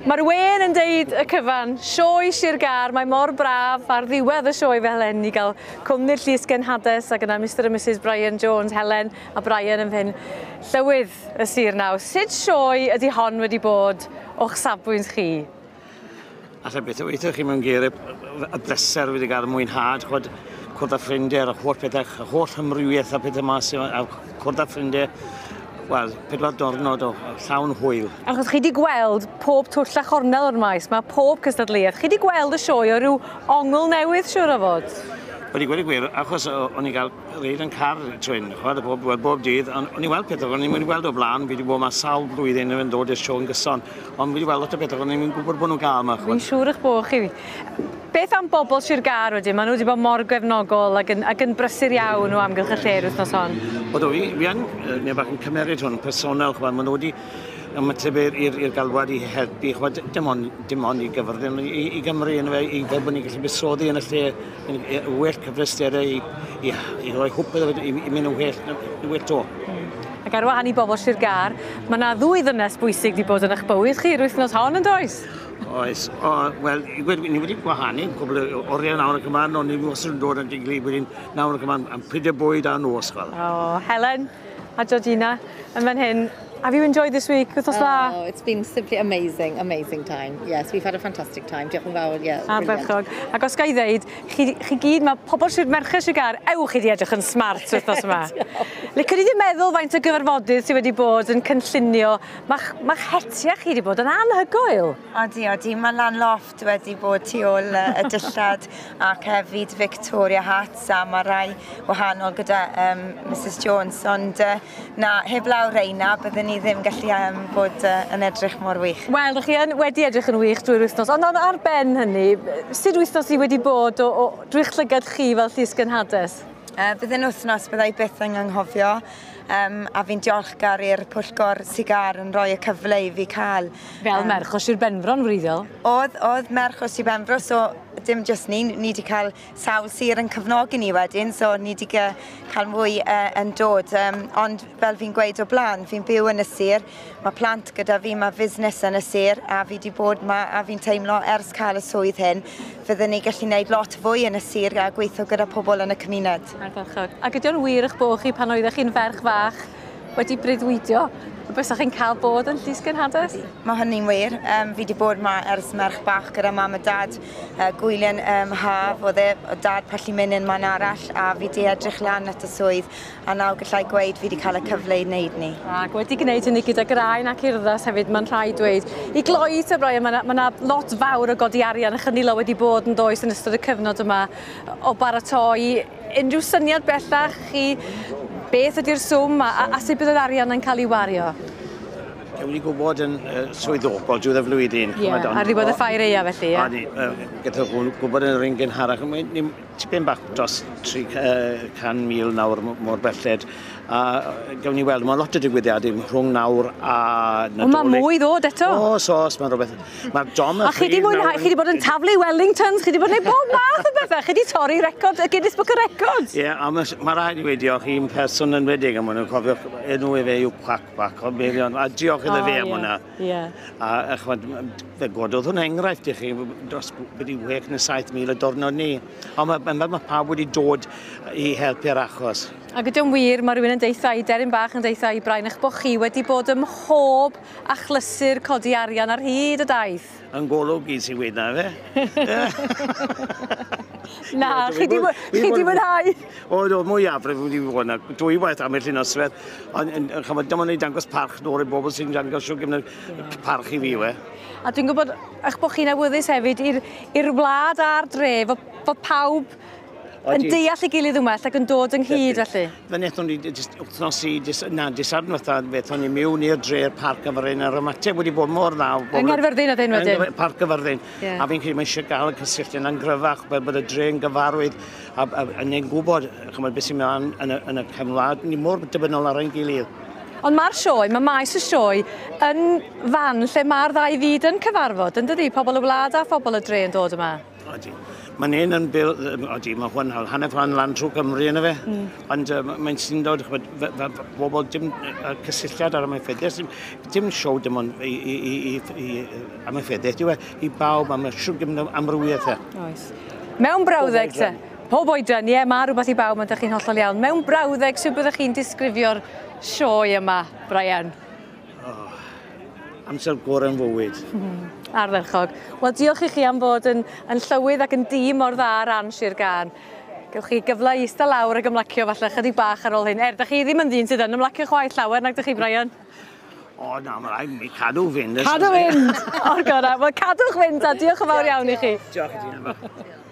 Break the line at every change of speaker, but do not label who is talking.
Mae'r wên yn deud y cyfan, sioe Sir Gâr, mae mor braf ar ddiwedd y sioe fel hyn i gael cwmni'r Llys Genhades ac yna Mr a Mrs Brian Jones, Helen a Brian yn hyn. Llywydd y sir nawr, sut sioe ydy hon wedi bod o'ch safbwynt chi?
Alla beth o weithio chi mewn geiriau, y bleser wedi cael y mwynhad, chwad, cwrdd â ffrindiau, yr holl pethau, y holl amrywiaeth a pethau mas, a cwrdd â ffrindiau, wel, 4 diwrnod o llawn hwyl.
Achos chi wedi gweld pob twll a chornel o'r maes, mae pob cystadleuaeth. Chi wedi gweld y sioe o ryw ongl newydd, siŵr o fod?
Wedi gweud y gwir, achos o'n i'n cael reid yn car trwyn, chwad, bob, well, bob dydd, ond o'n i'n weld pethau o'n i'n wedi gweld o blaen, fi wedi bod yma sawl blwyddyn yn dod i'r sioe yn gyson, ond fi wedi weld lot o bethau o'n i'n gwybod bod nhw'n gael yma.
Fi'n siŵr eich bod chi. Beth am bobl Sir Gâr wedyn? Maen nhw wedi bod mor gefnogol ac yn, ac yn brysur iawn o amgylch y lle'r wythnos hon.
O do, fi yn, neu bach yn cymeryd hwn, personol, chwa, maen nhw wedi ymateb i'r galwad i helpu, chwa, dim ond i Gyfyrddin, i Gymru, yn fe, i fel bod ni'n gallu buddsoddi yn y lle, yn well cyfleusterau i roi hwb iddo fe, i mynd yn well to.
Ac ar wahân i bobl Sir Gâr, mae yna ddwy ddynes bwysig wedi bod yn eich bywyd chi yr wythnos hon yn does?
Oes, o, wel, i gweud, ni wedi gwahanu cwbl o oriau nawr ac ymlaen, ond ni wastad yn dod yn diglu wedyn nawr ac ymlaen am pryd y bwyd a nos, fel.
O, Helen a Georgina yn fan hyn. Have you enjoyed this week? Wythnos dda?
Oh, it's been simply amazing, amazing time. Yes, we've had a fantastic time. Diolch yn fawr, yeah. Brilliant.
Ardderchog. Ac os ga i ddeud, chi gyd, mae pobl Sir Merched Sir Gâr, ewch chi di edrych yn smart wythnos yma. Licwn i ddim meddwl faint o gyfarfodydd sydd wedi bod yn cynllunio. Mae'ch ma hetiau chi wedi bod yn anhygoel.
Odi, odi. Mae Lan Loft wedi bod tu ôl y dillad ac hefyd Victoria Hats a mae rai wahanol gyda Mrs Jones. Ond na, heb law reina, byddwn ni ddim gallu bod yn edrych mor wych.
Wel, ydych chi yn wedi edrych yn wych drwy'r wythnos, ond ar ben hynny, sut wythnos i wedi bod o drwy'ch llygad chi fel llys genhades?
Bydd yn wythnos byddai byth yn anghofio a fi'n diolchgar i'r pwyllgor Sir Gâr yn rhoi y cyfle i fi cael.
Fel merch o Sir Benfro'n wreiddiol?
Oedd merch o Sir Benfro, so dim jyst ni, ni wedi cael sawl sir yn cefnogi ni wedyn, so ni wedi cael mwy yn dod. Ond fel fi'n gweud o blaen, fi'n byw yn y sir, mae plant gyda fi, mae fusnes yn y sir, a fi wedi bod ma, a fi'n teimlo ers cael y swydd hyn, fyddwn ni gallu gwneud lot fwy yn y sir a gweithio gyda pobl yn y cymuned.
Ardderchog. Ac ydy o'n wir eich bod chi pan oeddech chi'n ferch fach wedi breuddwydio y bysach chi'n cael bod yn llys genhades?
Mae hynny'n wir. Fi wedi bod ma ers merch bach gyda mam a dad. Gwyliau'n haf, oedd e, o dad pallu mynd yn man arall, a fi wedi edrych lan at y swydd, a nawr gallai gweud fi wedi cael y cyfle i wneud ni.
Ac wedi gwneud hynny gyda graen ac urddas hefyd, mae'n rhaid dweud. I gloi te, Brian, mae yna ma lot fawr o godi arian a chynilo wedi bod yn does yn ystod y cyfnod yma o baratoi. Unrhyw syniad bellach chi beth ydy'r swm a sut bydd yr arian yn cael ei wario?
Gawn ni gwybod yn swyddogol diwedd y flwyddyn.
Ie, ar ddiwedd y ffair aeaf felly, ie?
A ni, gyda gwybod yn yr un gynharach, ni tipyn bach dros 300,000 nawr mor belled. A gawn ni weld, mae lot o digwyddiadau rhwng nawr a
Nadolig. O, mae mwy ddod eto.
Oes, oes, mae rhywbeth. Mae'r dom
A chi di mwynhau, chi di bod yn taflu Wellingtons, chi di bod yn gwneud bob math o bethau, chi di torri record, y Guinness Book of Records.
Ie, yeah, a mae ma rhaid i wedi diolch i'n person yn wedig, a maen nhw'n cofio enw i fe yw Quack Quack, o Meirion, a diolch iddo fe am hwnna. A ch'mod, fe gododd hwn enghraifft i chi dros beth i 6 neu 7,000 y diwrnod ni. Ond mae pawb wedi dod i helpu'r achos.
Ac ydy o'n wir, mae rhywun yn deutha i, deryn bach yn deutha i Brian, eich bod chi wedi bod ym mhob achlysur codi arian ar hyd y daith.
Yn golwg i sy'n weud na fe.
Na, chi di mwynhau.
O, do, mwyafrif wedi bod yna. Dwy waith am y noswaith. Ond, ch'mod, dim ond i dangos parch nôl i bobl sy'n dangos siw gymaint parch i fi, we.
A dwi'n gwybod eich bod chi'n awyddus hefyd i'r wlad a'r dre, fod pawb yn deall ei gilydd yn well ac yn dod ynghyd felly.
Fe wnaethon ni jyst wythnos i, jyst, na, dydd Sadwrn fatha, fe ni mewn i'r dre'r Parc Gyfyrddin, a'r ymateb wedi bod mor dda.
Yng Nghaerfyrddin oedd hyn wedyn?
Parc Gyfyrddin. A fi'n credu mae eisiau gael y cysylltiad yna'n gryfach, bod y dre'n gyfarwydd, a ni'n gwybod, ch'mod, beth sy'n mynd yn y cefn wlad, ni mor dibynnol ar ein gilydd.
Ond mae'r sioe, mae maes y sioe yn fan lle mae'r ddau fyd yn cyfarfod, yn dydi? Pobl y wlad a phobl y dre yn dod yma.
Odi. Mae'n un yn bil, odi, mae hwn hanner ffordd lan trwy Cymru yna fe. Ond mae'n syndod, ch'mod, bobl dim cysylltiad ar amaethyddiaeth, dim sioe dim ond i amaethyddiaeth, yw e, i bawb am y siwr gymaint o amrywiaeth e.
Oes. Mewn brawddeg te, pob oedran, ie, mae rhywbeth i bawb, mae chi'n hollol iawn. Mewn brawddeg, sut byddwch chi'n disgrifio'r sioe yma, Brian?
Oh, amser gorau yn fywyd.
Ardderchog. Wel, diolch i chi am fod yn llywydd ac yn dîm mor dda ar ran Sir Gâr. Gewch chi gyfle i eistedd lawr ac ymlacio falle chydig bach ar ôl hyn. Er, da chi ddim yn ddyn sydd yn ymlacio chwaith llawer, nag ydych chi, Brian?
O, na, mae rhaid mi cadw fynd.
Cadw fynd! O'r gorau. Wel, cadwch fynd a diolch yn fawr iawn i chi.
Diolch i ti.